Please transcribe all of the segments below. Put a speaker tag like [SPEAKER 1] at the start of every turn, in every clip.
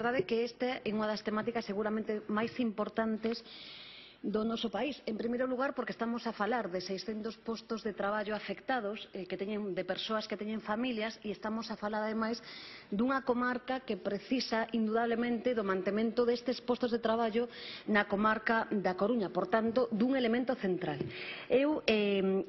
[SPEAKER 1] verdade é que esta é unha das temáticas seguramente máis importantes do noso país. En primeiro lugar, porque estamos a falar de 600 postos de traballo afectados de persoas que teñen familias, e estamos a falar, ademais, dunha comarca que precisa, indudablemente, do mantemento destes postos de traballo na comarca da Coruña. Por tanto, dun elemento central. Eu,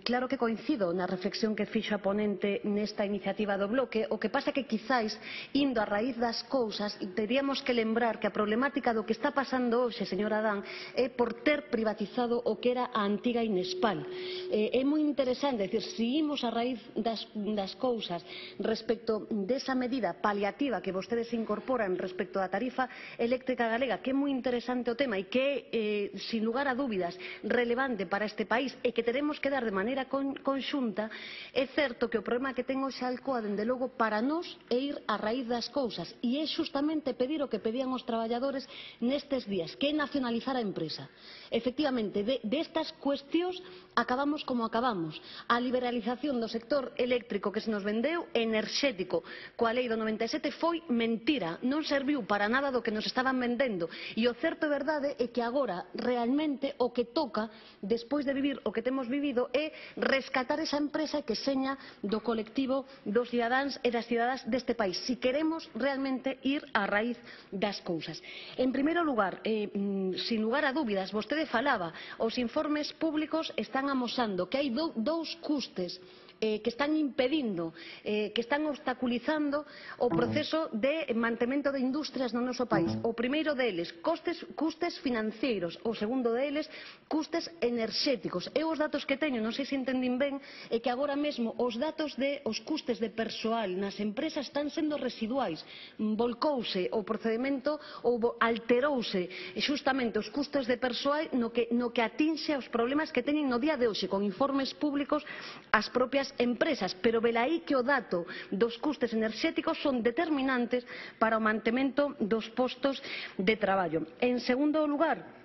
[SPEAKER 1] claro que coincido na reflexión que fixo a ponente nesta iniciativa do bloque. O que pasa que, quizáis, indo a raíz das cousas, teríamos que lembrar que a problemática do que está pasando hoxe, señora Adán, é por ter privatizado o que era a antiga Inespal. É moi interesante, decir, se imos a raíz das cousas respecto desa medida paliativa que vostedes incorporan respecto da tarifa eléctrica galega, que é moi interesante o tema e que é, sin lugar a dúbidas, relevante para este país e que teremos que dar de maneira conxunta, é certo que o problema que ten hoxe a Alcoa, dende logo, para nós é ir a raíz das cousas, e é xustamente pedir o que pedían os traballadores nestes días, que é nacionalizar a empresa. Efectivamente, destas cuestións acabamos como acabamos. A liberalización do sector eléctrico que se nos vendeu, enerxético, coa lei do 97, foi mentira. Non serviu para nada do que nos estaban vendendo. E o certo e verdade é que agora, realmente, o que toca, despois de vivir o que temos vivido, é rescatar esa empresa que seña do colectivo dos cidadáns e das cidadás deste país, si queremos realmente ir á raíz das cousas. En primeiro lugar, sin lugar a dúbidas, vostede falaba, os informes públicos están amosando que hai dous custes que están impedindo, que están obstaculizando o proceso de mantemento de industrias no noso país. O primeiro deles, custes financeiros. O segundo deles, custes enerxéticos. Eu os datos que teño, non sei se entendín ben, é que agora mesmo os datos os custes de persoal nas empresas están sendo residuais. Volcouse o procedimento ou alterouse xustamente os custes de persoal no que atinxe aos problemas que teñen no día de hoxe, con informes públicos as propias empresas, pero velaí que o dato dos custes enerxéticos son determinantes para o mantemento dos postos de traballo. En segundo lugar,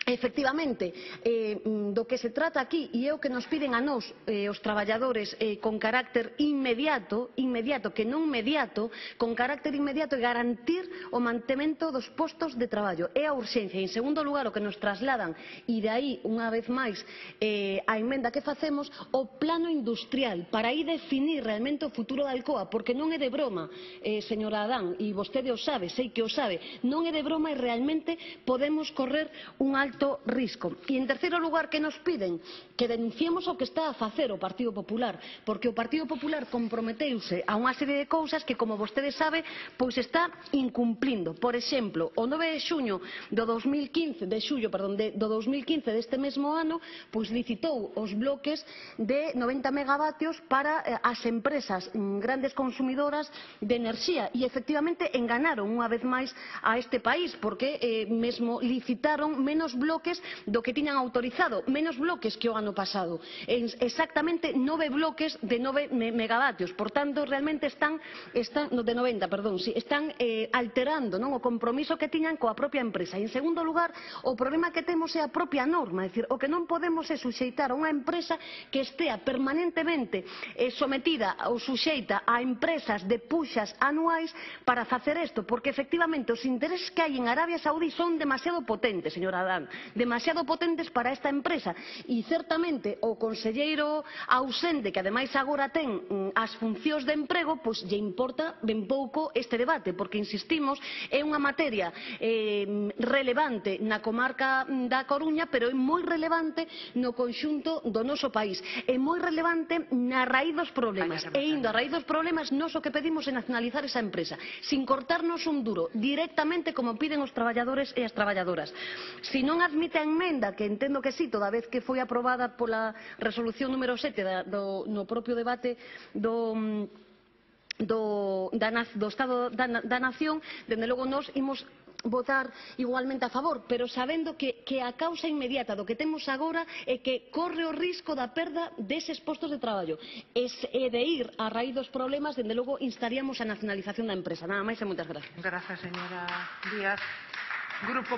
[SPEAKER 1] efectivamente, do que se trata aquí, e é o que nos piden a nós os traballadores con carácter inmediato, que non mediato, con carácter inmediato, é garantir o mantemento dos postos de traballo. É a urxencia. En segundo lugar, o que nos trasladan, e de aí, unha vez máis, a emenda que facemos, o plano industrial, para aí definir realmente o futuro da Alcoa, porque non é de broma, señora Adán, e vostede o sabe, sei que o sabe, non é de broma e realmente podemos correr un alto risco. E en terceiro lugar, que nos piden? Que denunciemos o que está a facer o Partido Popular, porque o Partido Popular comprometeuse a unha serie de cousas que, como vostede sabe, pois está incumplindo. Por exemplo, o 9 de xullo do 2015 deste mesmo ano, pois licitou os bloques de 90 megavatios para as empresas grandes consumidoras de enerxía, e efectivamente enganaron unha vez máis a este país, porque mesmo licitaron menos bloques do que tiñan autorizado, menos bloques que o ano pasado, exactamente 9 bloques de 9 megavatios. Por tanto, realmente están de 90, perdón, están alterando o compromiso que tiñan coa propia empresa. E, en segundo lugar, o problema que temos é a propia norma, é dicir, o que non podemos é suxeitar a unha empresa que estea permanentemente sometida ou suxeita a empresas de puxas anuais para facer isto, porque efectivamente os intereses que hai en Arabia Saudí son demasiado potentes, señora Adán, demasiado potentes para esta empresa, e certamente o conselleiro ausente, que ademais agora ten as funcións de emprego, pois lle importa ben pouco este debate, porque insistimos, é unha materia relevante na comarca da Coruña, pero é moi relevante no conxunto do noso país, é moi relevante na raíz dos problemas, e indo a raíz dos problemas, nós o que pedimos é nacionalizar esa empresa, sin cortarnos un duro, directamente como piden os traballadores e as traballadoras. Se non admite a emenda, que entendo que sí, toda vez que foi aprobada pola resolución número 7 no propio debate do Estado da Nación, dende logo nós imos votar igualmente a favor, pero sabendo que a causa inmediata do que temos agora é que corre o risco da perda deses postos de traballo, e de ir a raíz dos problemas, dende logo instaríamos a nacionalización da empresa. Nada máis e moitas gracias.
[SPEAKER 2] Gracias, señora Díaz. Grupo